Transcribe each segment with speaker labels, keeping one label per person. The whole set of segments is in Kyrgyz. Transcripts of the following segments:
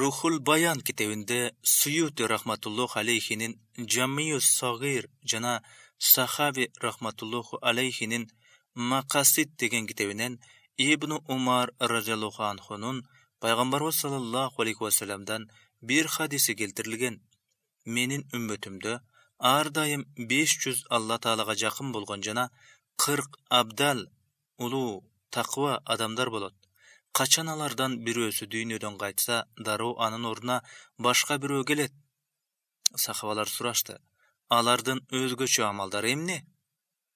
Speaker 1: Ruhul Bayan kitabinde Suyuti rahmatulloh aleyhinin Jamiyus Sagir jana Sahabi rahmatulloh aleyhinin Maqasid degan kitabinen İbn Umar radhiyallohu anhu'nun Peygamberimiz sallallahu aleyhi ve sellem'den bir hadisi keltirilgen. Menin ümmetimde ardayım 500 Allah Ta'alaga jakın bolgon jana 40 abdal, ulu, takva adamlar bolot. Kaçan alardan birөөsü dünyödөн kaytsa, daroo anın oruna başka birөө kelet. Sahabalar suraştı. Alardan özgöçö amaldar emne?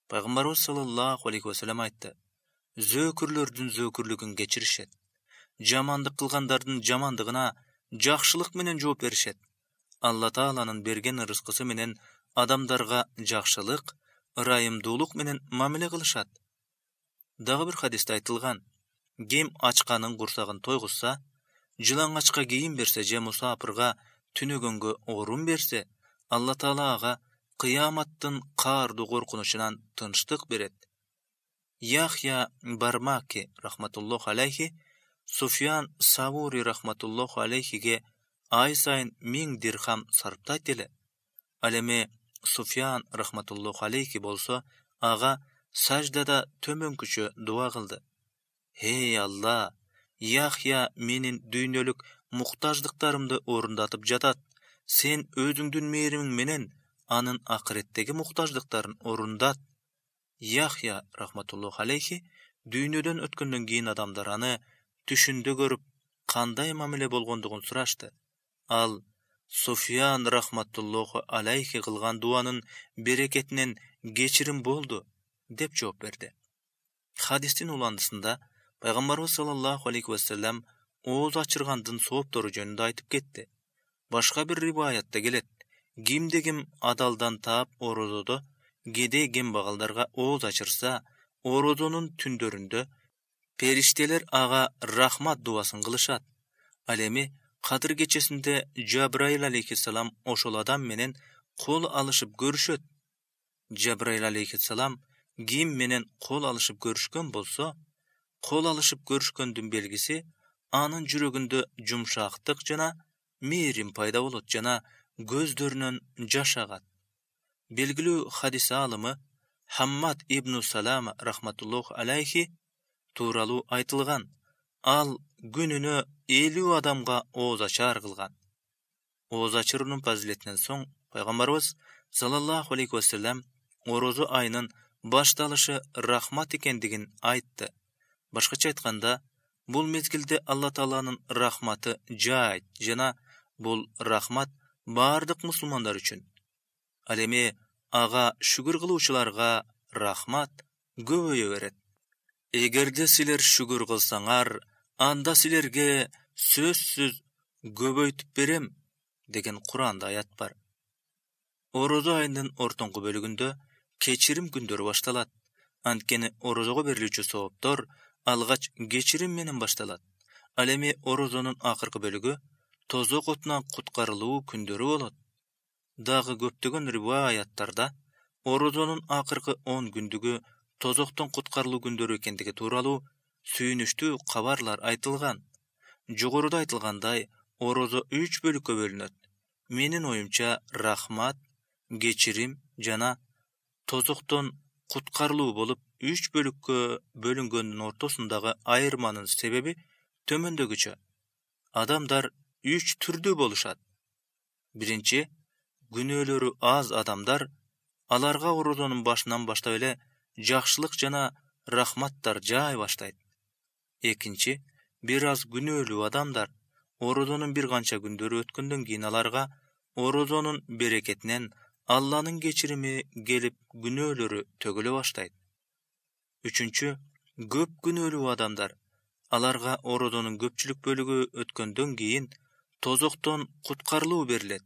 Speaker 1: Peygamberimiz sallallahu aleyhi ve sellem aytты. Zökürlördün zökürlügün geçirişet. Jamandyk kılgandardın jamandygına jakşılık menen жооп berişet. Allah Taala'nın bergen rızkısı menen adamdarga jakşılık, ırайымдуулук menen mamile kılışat. Dagı bir hadiste aytılgan. Gem açkanın kursagın toyguzsa, жылаң açka giyim berse je musapırga tünögөнгө orun berse, Allah Taala aga kıyamattın kardu korkunuşunan tınçtık beret. Yahya Barmaki rahmatulloh aleyhi, Sufyan Savuri rahmatulloh aleyhige ay sayın 1000 dirham sarptayt ele. Aleme Sufyan rahmatulloh aleyhi bolsa, aga sajdada tömönküçö dua kıldı. Hey Allah, Yahya menin düynölük muhtajdıklarımды orundatıp jatat. Sen özüңdün meerimin menen anın ahiretteki muhtajdıkların orundat. Yahya rahmatulloh aleyhi düynödön ötkөндөн кийин adamlar anı түшүндө көрүp кандай мамиле болгондугун сурашты. Al Sufyan rahmatulloh aleyhi kılgan duanın bereketinen geçirim boldu dep жооп berdi. Hadistin ulandısında Peygamberimiz sallallahu aleyhi ve sellem oğuz açırgandın sooptoru jönündө aytıp ketti. Başka bir rivayatta gelet. Kimde-kim adaldan taap orozodo, gede gembagaldarga oğuz açırsa, orozonun tündöründө perişteler aga rahmat duasın kılışat. Alemi Kadir gecesinde Cebrail aleyhisselam oşol adam menen kol alışıp görüşöt. Cebrail aleyhisselam kim menen kol alışıp görüşkön bolsa, kol alışıp görüşköndün belgisi anın жүрөгүндө jumşaktık jana meirim payda bolot jana gözdөрүнөн жаш agat. Belgilүү hadis alımı Hammad ibn Salama rahmatulloh aleyhi tuuralуу aytılgan. Al gününü 50 adamga oğuz açar kılgan. Oğuz açırının faziletinden soň Peygamberimiz sallallahu aleyhi ve sellem orozu ayının başdalışı rahmat ekendigin aytты. Başkaça aytkanda, bul mezgilde Allah Taala'nın rahmatı jayt jana bul rahmat bardyk musulmanlar üçün. Alemi aga şükür kıluvçularga rahmat göböye beret. Egerde siler şükür kılsaňar, anda silerge sözsüz göböytüp berem degen Kur'anda ayat bar. Orozu ayının ortoňky bölügünde keçirim gündörü baştalat. Antkeni orozoga berilүүчү sooptor algaç geçirim menen baştalat. Alemi orozonun akırkı bölügü tozok otundan kutkarılуу kündörü bolot. Dagı köptөгөн riwayattarda orozonun akırkı 10 gündügü tozokton kutkarılуу kündörü ekendigi tuuralуу sүйүнүчтүү kabarlar aytılgan. Jogoruda aytılganday orozo 3 bölükкө bölünöt. Menin oyumça rahmat, geçirim jana tozokton kutkarılуу bolup 3 bölükкө bölüngöndүн ortosundagı ayırmanın sebebi tömöndөгүчө. Adamlar 3 türdүү boluşat. Birinci, günöөлөрү az adamlar alarga orozonun başынан baştap ele jakşılık jana rahmattar jay baştayt. Ekinci, biraz günöөлүү adamlar orozonun bir kança gündörü ötkөндөн kийин alarga orozonun bereketinden Allah'nın geçirimi gelip günöөлөрü tögülö baştayt. Üçüncü, köp günöөлүү adamlar alarga orozonun köpçülük bölügü ötkөндөн kийin tozokton kutkarılуу berilet.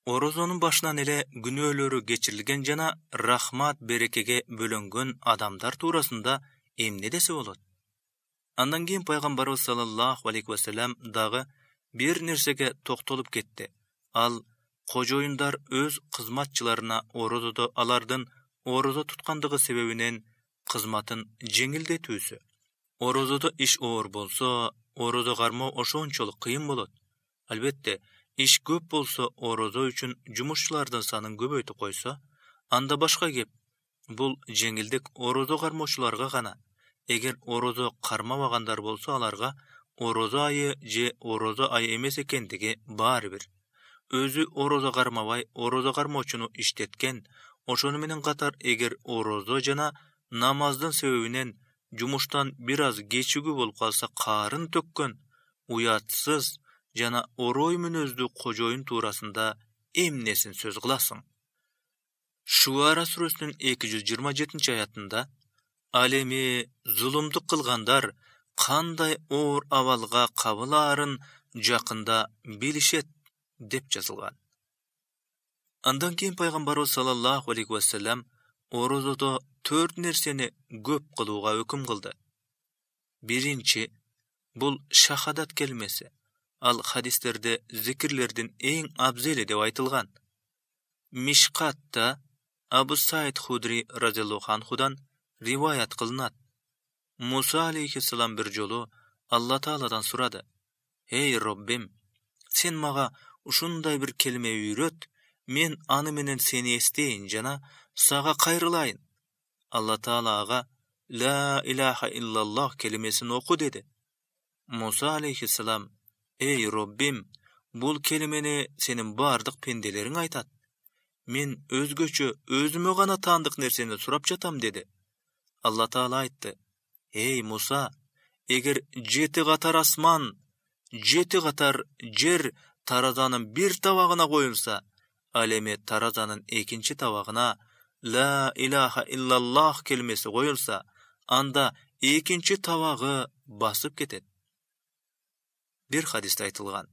Speaker 1: Orozonun başынан ele günöөлөрü geçirilgen jana rahmat berekege bölөнгөн adamlar tuurasında emne dese bolot. Andan kийин Peygamberimiz sallallahu aleyhi ve sellem dagı bir nersege toktolup ketdi. Al kojoyunдар öz kızmatçılarına orozoda alardın orozo tutkandığı sebebinen kızmatın jеңилдетүүsü. Orozoda iş oor bolsa, орозо кармоо ошончолук кыйын болот. Албетте, иш көп болсо, орозо үчүн жумушчулардын санын көбөйтүп койсо, анда башка кеп. Бул жеңилдик орозо кармоочуларга гана. Эгер орозо кармабагандар болсо, аларга орозо айы же орозо айы эмес экендиги баары бир. Өзү орозо кармабай, орозо кармоочуну иштеткен, ошону менен катар эгер орозо жана намаздын себебинен жумуштан бир аз кечигүү болуп калса, карын төккөн, уятсыз жана орой мүнөздүү кожоюн туурасында эмнесин сөз кыласың? Шуара сүрөсүнүн 227-аятында ал эми зулумдук кылгандар кандай оор абалга кабылаарын жакында билишет деп жазылган. Андан кийин пайгамбарыбыз саллаллаху алейхи вассалам орозодо 4 нерсени көп кылууга өкүм кылды. Биринчи, бул шахадат келмеси. Ал хадистерде зикирлердин эң абзели деп айтылган. Мишкатта Абу Саид Худри разияллаху анхудан риваят кылынат. Муса алейхиссалам бир жолу Алла Тааладан сурады: "Эй Роббим, сен мага ушундай бир келме үйрөт, мен аны менен сени эстейин жана сага кайрылайын." Алла Таала ага "Ла илаха иллаллах" келмесин оку деди. Муса алейхиссалам: "Эй Роббим, бул келмени сенин бардык пенделериң айтат. Мен өзгөчө өзүмө гана таандык нерсени сурап жатам" деди. Алла Таала айтты: "Эй Муса, эгер 7 катар асман, 7 катар жер таразанын бир табагына коюлса, ал эми таразанын экинчи табагына «Ла илаха иллаллах» келмеси коюлса, анда экинчи табагы басып кетет. Бир хадисте айтылган: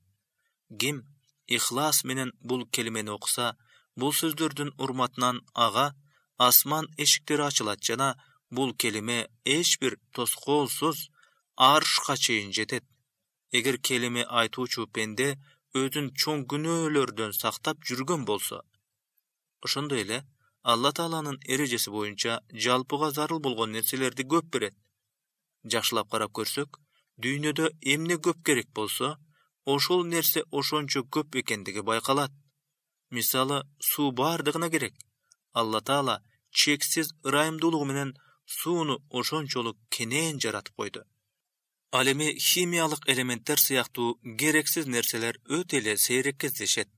Speaker 1: ким ихлас менен бул келмени окуса, бул сөздөрдүн урматынан ага асман эшиктери ачылат жана бул келиме эч бир тоскоолсуз аршка чейин жетет. Эгер келиме айтуучу пенде өзүн чоң күнөөлөрдөн сактап жүргөн болсо. Ошондой эле Алла Тааланын эрежеси боюнча жалпыга зарыл болгон нерселерди көп берет. Жакшылап карап көрсөк, дүйнөдө эмне көп керек болсо, ошол нерсе ошончо көп экендиги байкалат. Мисалы, суу бардыгына керек. Алла Таала чексиз ырайымдуулугу менен сууну ошончолук кенен жаратып койду. Ал эми химиялык элементтер сыяктуу керексиз нерселер өтө эле сейрек кездешет.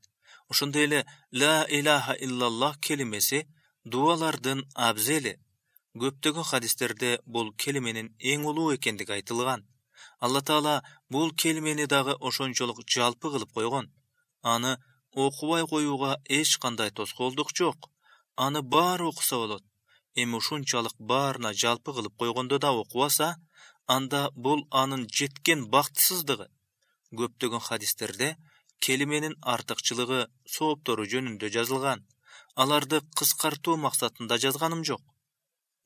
Speaker 1: Ошондой эле «Ла илаха иллаллах» келимеси дуалардын абзели. Көптөгөн хадистерде бул келименин эң улуу экендиги айтылган. Алла Таала бул келимени дагы ошончолук жалпы кылып койгон. Аны окубай коюуга эч кандай тоскоолдук жок. Аны баары окуса болот. Эми ушунчалык баарына жалпы кылып койгондо да окубаса, анда бул анын жеткен бактысыздыгы. Көптөгөн хадистерде келименин артыкчылыгы, сооптору жөнүндө жазылган. Аларды кыскартуу максатында жазганым жок.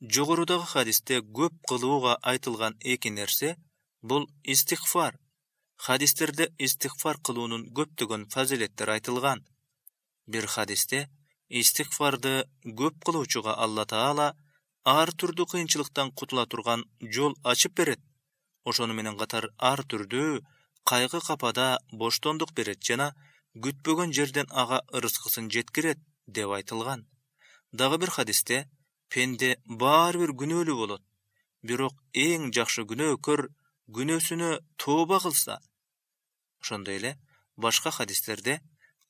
Speaker 1: Жогорудагы хадисте көп кылууга айтылган эки нерсе бул истигфар. Хадистерде истигфар кылуунун көптөгөн фазилеттери айтылган. Бир хадисте истигфарды көп кылуучуга Алла Таала ар түрдүү кыйынчылыктан кутула турган жол ачып берет. Ошону менен катар ар түрдүү кайгы капада боштондук берет жана күтпөгөн жерден ага ырыскысын жеткирет деп айтылган. Дагы бир хадисте пенде баары бир күнөөлүү болот. Бирок эң жакшы күнөөкөр күнөөсүнө тооба кылса. Ошондой эле башка хадистерде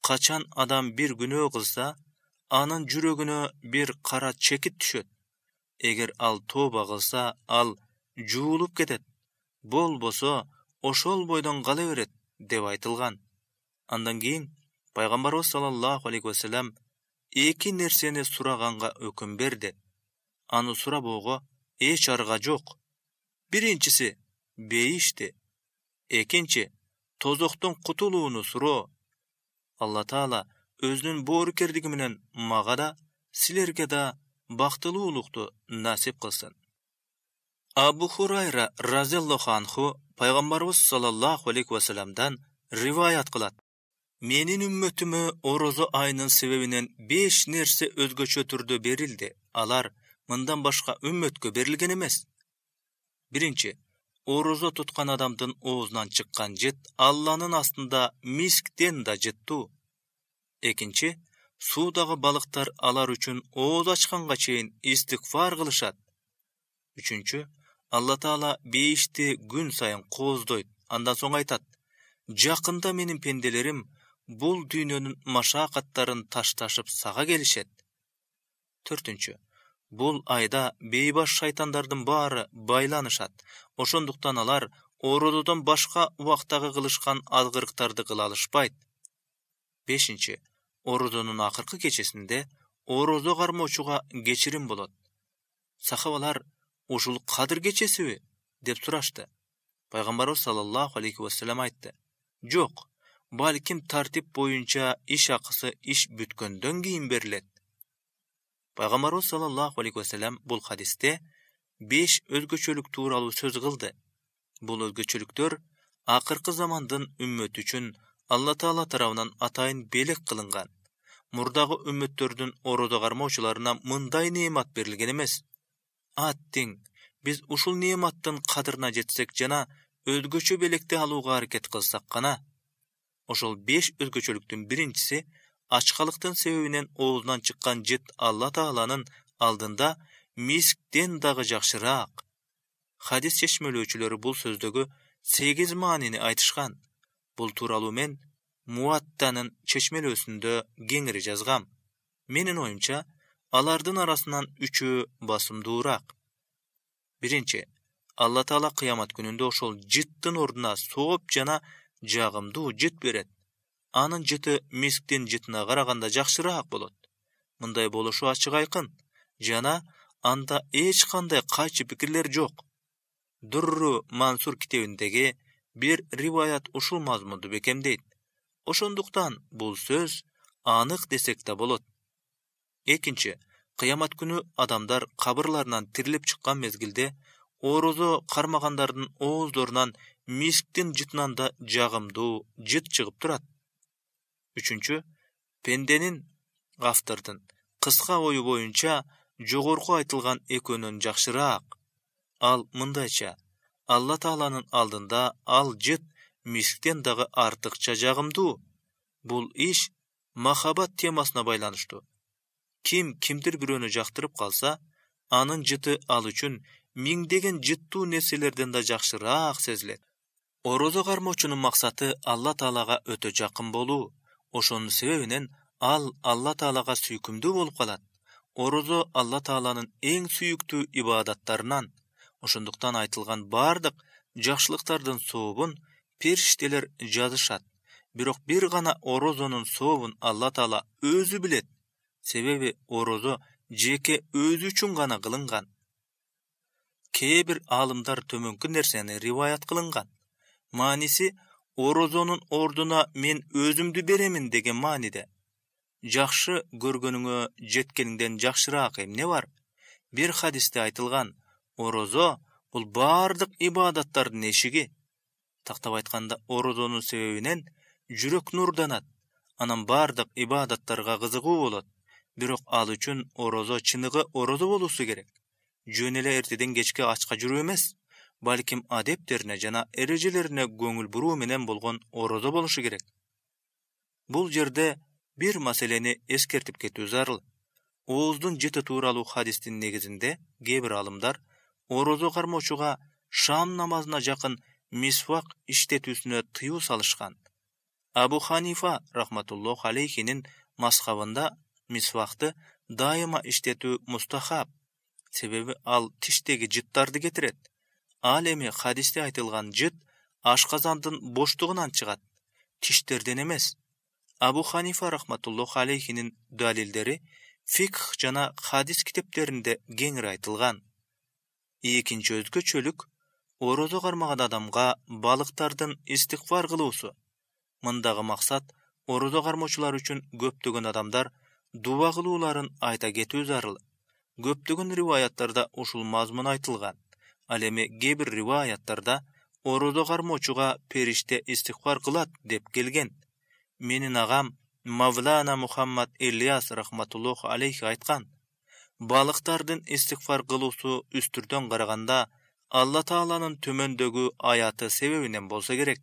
Speaker 1: качан адам бир күнөө кылса, анын жүрөгүнө бир кара чекит түшөт. Эгер ал тооба кылса, ал жуулуп кетет. Болбосо ошол бойдон кала берет деп айтылган. Андан кийин пайгамбарыбыз саллаллаху алейхи вассалам эки нерсени сураганга өкүм берди. Аны сурабоого эч арга жок. Биринчиси бейишти. Экинчи тозоктон кутулууну суроо. Алла Таала өзүнүн боорукердиги менен мага да, силерге да бактылуулукту насип кылсын. Абу Хурайра разияллаху анху пайгамбарыбыз саллаллаху алейхи вассаламдан риваят кылат. Менин үммөтүмө орозо айынын себебинен 5 нерсе өзгөчө түрдө берилди. Алар мындан башка үммөткө берилген эмес. Биринчи, орозо туткан адамдын оозунан чыккан жыт Алланын астында мисктен да жыттуу. Экинчи, суудагы балыктар алар үчүн ооз ачканга чейин истигфар кылышат. Үчүнчү, Алла Таала бейишти күн сайын кооздойт. Андан соң айтат: "Жакында менин пенделерим бул дүйнөнүн машакаттарын ташташып сага келишет." Төртүнчү, бул айда бейбаш шайтандардын баары байланышат. Ошондуктан алар орозодон башка убактагы кылышкан алгырыктарды кыла алышпайт. Бешинчи, орозонун акыркы кечесинде орозо кармоочуга кечирим болот. Сахабалар: "Ушул Кадыр кечесиби?" деп сурашты. Пайгамбарыбыз саллаллаху алейхи вассалам айтты: "Жок, балким тартип боюнча иш акысы иш бүткөндөн кийин берилет." Пайгамбарыбыз саллаллаху алейхи вассалам бул хадисте 5 өзгөчөлүк тууралуу сөз кылды. Бул өзгөчөлүктөр акыркы замандын үммөтү үчүн Алла Таала тарабынан атайын белек кылынган. Мурдагы үммөттөрдүн орозо кармоочуларына мындай неемат берилген эмес. Аттиң, биз ушул неематтын кадырына жетсек жана өзгөчө белекти алууга аракет кылсак гана. Ошол 5 өзгөчөлүктүн биринчиси ачкалыктын себебинен оозунан чыккан жыт Алла Тааланын алдында мисктен дагы жакшыраак. Хадис чечмелөөчүлөрү бул сөздөгү 8 маанини айтышкан. Бул тууралуу мен Муаттанын чечмелөөсүндө кеңири жазгам. Менин оюмча, алардын арасынан 3-өө басымдуураак. Биринчи, Алла Таала кыямат күнүндө ошол жыттын ордуна сооп жана жагымдуу жыт берет. Анын жыты мисктин жытына караганда жакшыраак болот. Мындай болушу ачык айкын жана анда эч кандай кайчы пикирлер жок. Дурру Мансур китебиндеги бир риваят ушул мазмунду бекемдейт. Ошондуктан бул сөз анык десек да болот. Экинчи, кыямат күнү адамдар кабырларынан тирилип чыккан мезгилде орозо кармагандардын ооздорунан мисктин жытынан да жагымдуу жыт чыгып турат. Үчүнчү, пенденин автордун кыска ою боюнча жогорку айтылган экөөнөн жакшыраак. Ал мындайча: Алла Тааланын алдында ал жыт мисктен дагы артыкча жагымдуу. Бул иш махабат темасына байланыштуу. Ким кимдир бирөөнү жактырып калса, анын жыты ал үчүн миңдеген жыттуу нерселерден да жакшыраак сезилет. Орозо кармоочунун максаты Алла Таалага өтө жакын болуу. Ошонун себебинен ал Алла Таалага сүйкүмдүү болуп калат. Орозо Алла Тааланын эң сүйүктүү ибадаттарынан. Ошондуктан айтылган бардык жакшылыктардын сообун периштелер жазышат. Бирок бир гана орозонун сообун Алла Таала өзү билет. Себеби орозо жеке өзү үчүн гана кылынган. Кээ бир аалымдар төмөнкү нерсени риваят кылынган. Мааниси орозонун ордуна мен өзүмдү беремин деген мааниде. Жакшы көргөнүңө жеткениңден жакшыраак эмне бар? Бир хадисте айтылган: орозо бул бардык ибадаттардын эшиги. Тактап айтканда, орозонун себебинен жүрөк нурданат, анан бардык ибадаттарга кызыгуу болот. Бирок ал үчүн орозо чыныгы орозо болуусу керек. Жөн эле эртеден кечке ачка жүрүү эмес, балким адептерине жана эрежелерине көңүл буруу менен болгон орозо болушу керек. Бул жерде бир маселени эскертип кетүү зарыл. Ооздун жыты тууралуу хадистин негизинде кээ бир алымдар орозо кармоочуга шам намазына жакын мисвак иштетүүсүнө тыюу салышкан. Абу Ханифа рахматуллоху алейхинин мазхабында мисвакты дайыма иштетүү мустахаб, себеби ал тиштеги жыттарды кетирет. Ал эми хадисте айтылган жыт ашказандын боштугунан чыгат, тиштерден эмес. Абу Ханифа рахматуллоху алейхинин далилдери фикх жана хадис китептеринде кеңири айтылган. Экинчи өзгөчөлүк орозо кармаган адамга балыктардын истигфар кылуусу. Мындагы максат орозо кармоочулар үчүн көптөгөн адамдар дуба кылууларын айта кетүү зарыл. Көптөгөн риваяттарда ушул мазмун айтылган. Ал эми кээ бир риваяттарда орозо кармоочуга периште истигфар кылат деп келген. Менин агам Мавлана Мухаммад Ильяс рахматуллоху алейхи айткан: балыктардын истигфар кылуусу үстүрдөн караганда Алла Тааланын төмөндөгү аяты себебинен болсо керек.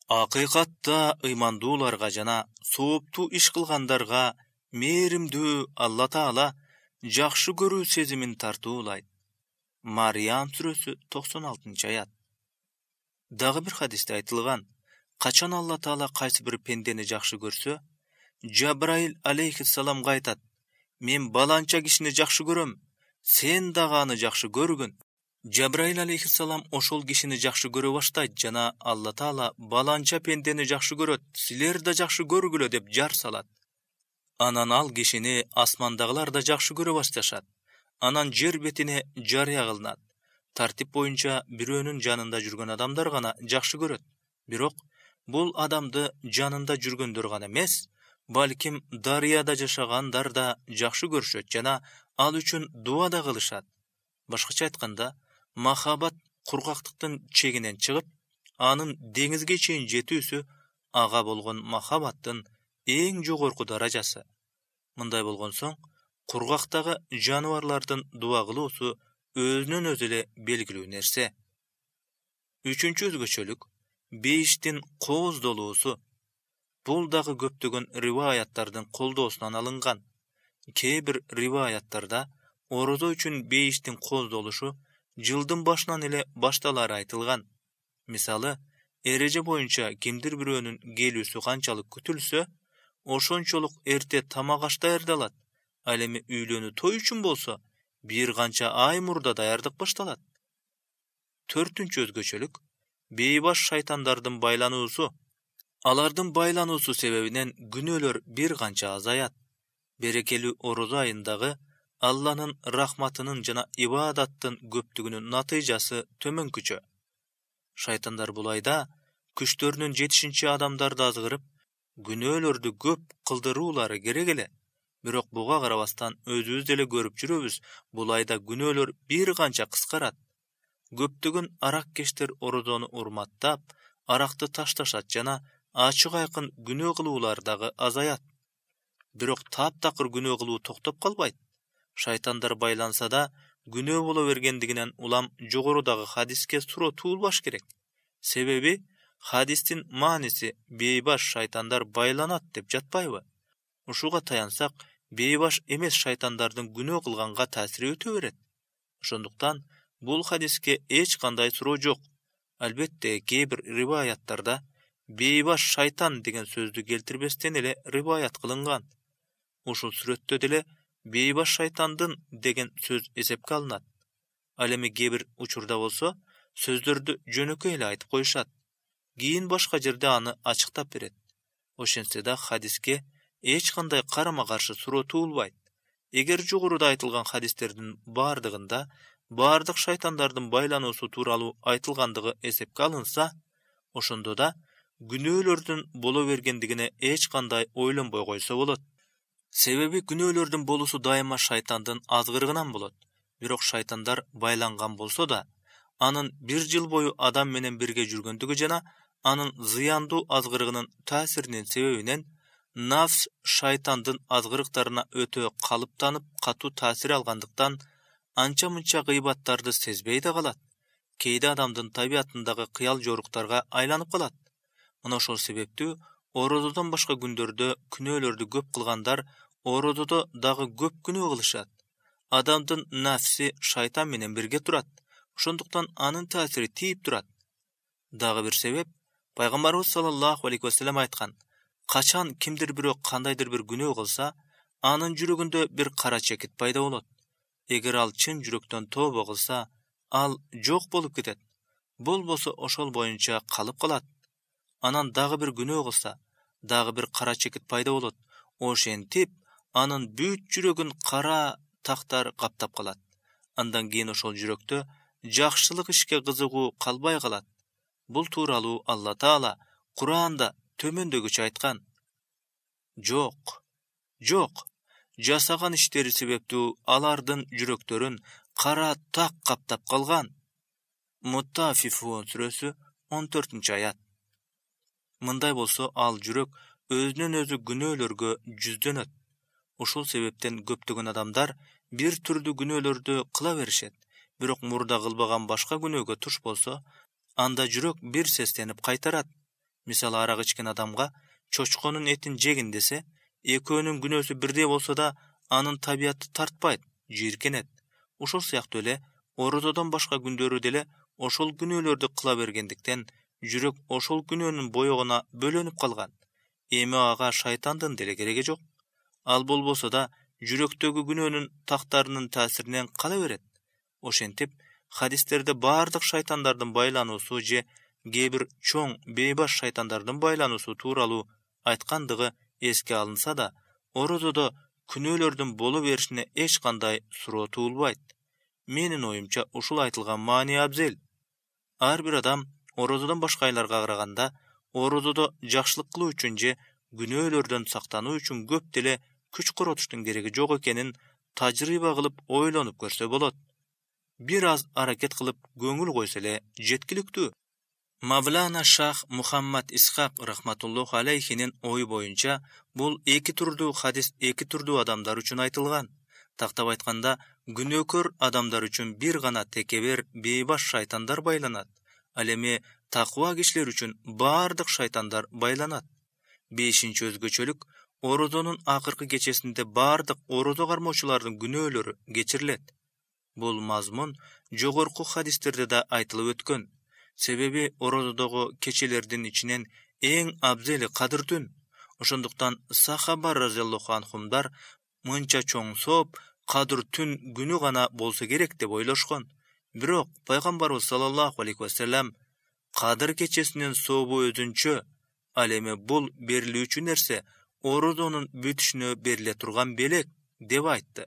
Speaker 1: Акыйкатта ыймандууларга жана сооптуу иш кылгандарга мээримдүү Алла Таала жакшы көрүү сезимин тартуулайт. Мариям сүрөсү 96-аят. Дагы бир хадисте айтылган, качан Алла Таала кайсы бир пендени жакшы көрсө, Жабраил алейхиссаламга айтат: "Мен баланча кишини жакшы көрөм, сен дагы аны жакшы көргүн." Жабраил алейхиссалам ошол кишини жакшы көрө баштайт жана Алла Таала баланча пендени жакшы көрөт, силер да жакшы көргүлө деп жар салат. Анан ал кишини асмандагылар да жакшы көрө башташат. Анан жер бетине жарыя кылынат. Тартип боюнча бирөөнүн жанында жүргөн адамдар гана жакшы көрөт. Бирок бул адамды жанында жүргөндөр гана эмес, балким дарыяда жашагандар да жакшы көрүшөт жана ал үчүн дуа да кылышат. Башкача айтканда, махабат кургактыктын чегинен чыгып, анын деңизге чейин жетүүсү ага болгон махабаттын эң жогорку даражасы. Мындай болгон соң, кургактагы жаныбарлардын дуа кылуусу өзүнөн өзү эле белгилүү нерсе. Үчүнчү өзгөчөлүк бейиштин кооздолуусу. Бул дагы көптөгөн риваяттардын колдоосунан алынган. Кээ бир риваяттарда орозо үчүн бейиштин кооздолушу жылдын башынан эле башталары айтылган. Мисалы, эреже боюнча кимдир бирөөнүн келүүсү канчалык күтүлсө, ошончолук эрте тамак аш даярдалат. Ал эми үйлөнүү той үчүн болсо, бир канча ай мурда даярдык башталат. Төртүнчү өзгөчөлүк бейбаш шайтандардын байлануусу. Алардын байлануусу себебинен күнөөлөр бир канча азаят. Берекелүү орозо айындагы Алланын рахматынын жана ибадаттын көптүгүнүн натыйжасы төмөнкүчө. Шайтандар бул айда күчтөрүнүн жетишинче адамдарды азгырып, күнөөлөрдү көп кылдыруулары керек эле. Бирок буга карабастан өзүбүз деле көрүп жүрөбүз, бул айда күнөөлөр бир канча кыскарат. Көптөгөн араккештер орозону урматтап, аракты ташташат жана ачык айкын күнөө кылуулар дагы азаят. Бирок таптакыр күнөө кылуу токтоп калбайт. Шайтандар байланса да, күнөө боло бергендигинен улам жогорудагы хадиске суроо туулбаш керек. Себеби хадистин мааниси бейбаш шайтандар байланат деп жатпайбы? Ушуга таянсак, бейбаш эмес шайтандардын күнөө кылганга таасири өтө берет. Ошондуктан бул хадиске эч кандай суроо жок. Албетте, кээ бир риваяттарда бейбаш шайтан деген сөздү келтирбестен эле риваят кылынган. Ушул сүрөттө деле бейбаш шайтандын деген сөз эсепке алынат. Ал эми кээ бир учурда болсо, сөздөрдү жөнөкөй эле айтып коюшат. Кийин башка жерде аны ачыктап берет. Ошентсе да хадиске эч кандай карама-каршы суроо туулбайт. Эгер жогоруда айтылган хадистердин бардыгында бардык шайтандардын байлануусу тууралуу айтылгандыгы эсепке алынса, ошондо да күнөөлөрдүн боло бергендигине эч кандай ойлонбой койсо болот. Себеби күнөөлөрдүн болуусу дайыма шайтандын азгырыгынан болот. Бирок шайтандар байланган болсо да, анын бир жыл бою адам менен бирге жүргөндүгү жана анын зыяндуу азгырыгынын таасиринин себебинен нафс шайтандын азгырыктарына өтө калыптанып, катуу таасир алгандыктан анча-мынча гыйбаттарды сезбей да калат. Кээде адамдын табиятындагы кыял жоруктарга айланып калат. Мына ошол себептүү орозодон башка күндөрдө күнөөлөрдү көп кылгандар орозодо дагы көп күнөө кылышат. Адамдын нафси шайтан менен бирге турат. Ошондуктан анын таасири тийип турат. Дагы бир себеп, пайгамбарыбыз саллаллаху алейхи вассалам айткан: качан кимдир бирөө кандайдыр бир күнөө кылса, анын жүрөгүндө бир кара чекит пайда болот. Эгер ал чын жүрөктөн тобо кылса, ал жок болуп кетет. Болбосо ошол боюнча калып калат. Анан дагы бир күнөө кылса, дагы бир кара чекит пайда болот. Ошентип, анын бүт жүрөгүн кара тактар каптап калат. Андан кийин ошол жүрөктө жакшылык ишке кызыгуу калбай калат. Бул тууралуу Алла Таала Кур'анда төмөндөгүчө айткан: Жок, жасаган иштери себептүү алардын жүрөктөрүн кара так каптап калган. Муттафифун сүрөсү 14-аят. Мындай болсо, ал жүрөк өзүнөн өзү күнөөлөргө жүздөнөт. Ушул себептен көптөгөн адамдар бир түрдүү күнөөлөрдү кыла беришет. бирок мурда кылбаган башка күнөөгө туш болсо, анда жүрөк бир сестенип кайтарат. Мисалы, арак ичкен адамга чочконун этин жегин десе, экөөнүн күнөөсү бирдей болсо да, анын табияты тартпайт, жийиркенет. Ошол сыяктуу эле орозодон башка күндөрү деле ошол күнөөлөрдү кыла бергендиктен жүрөк ошол күнөөнүн боёгуна бөлөнүп калган. Эми ага шайтандын деле кереги жок. Ал болбосо да жүрөктөгү күнөөнүн тактарынын таасиринен кала берет. Ошентип, хадистерде баардык шайтандардын байлануусу же кээ бир чоң бейбаш шайтандардын байлануусу тууралуу айткандыгы эске алынса да, орозодо күнөөлөрдүн боло беришине эч кандай суроо туулбайт. Менин оюмча ушул айтылган маани абзел. Ар бир адам орозодон башка айларга караганда орозодо жакшылык кылуу үчүн же күнөөлөрдөн сактануу үчүн көп деле күч коротуштун кереги жок экенин тажрыйба кылып ойлонуп көрсө болот. Бир аз аракет кылып көңүл койсо эле жеткиликтүү. Мавлана Шах Мухаммад Исхак рахматуллоху алейхинин ою боюнча, бул эки турдуу хадис эки турдуу адамдар үчүн айтылган. Тактап айтканда, күнөөкөр адамдар үчүн бир гана текебер бейбаш шайтандар байланат. Ал эми такыба кишилер үчүн баардык шайтандар байланат. 5-чи өзгөчөлүк, орозонун акыркы кечесинде баардык орозо кармоочулардын күнөөлөрү кечирилет. Бул мазмун жогорку хадистерде да айтылып өткөн. Себеби орозодогу кечелердин ичинен эң абзели кадыр түн. Ошондуктан сахаба разияллаху анхумдар мынча чоң сооп кадыр түн күнү гана болсо керек деп ойлошкон. Бирок пайгамбарыбыз саллаллаху алейхи вассалам кадыр кечесинин сообу өзүнчө, ал эми бул берилүүчү нерсе орозонун бүтүшүнө бериле турган белек деп айтты.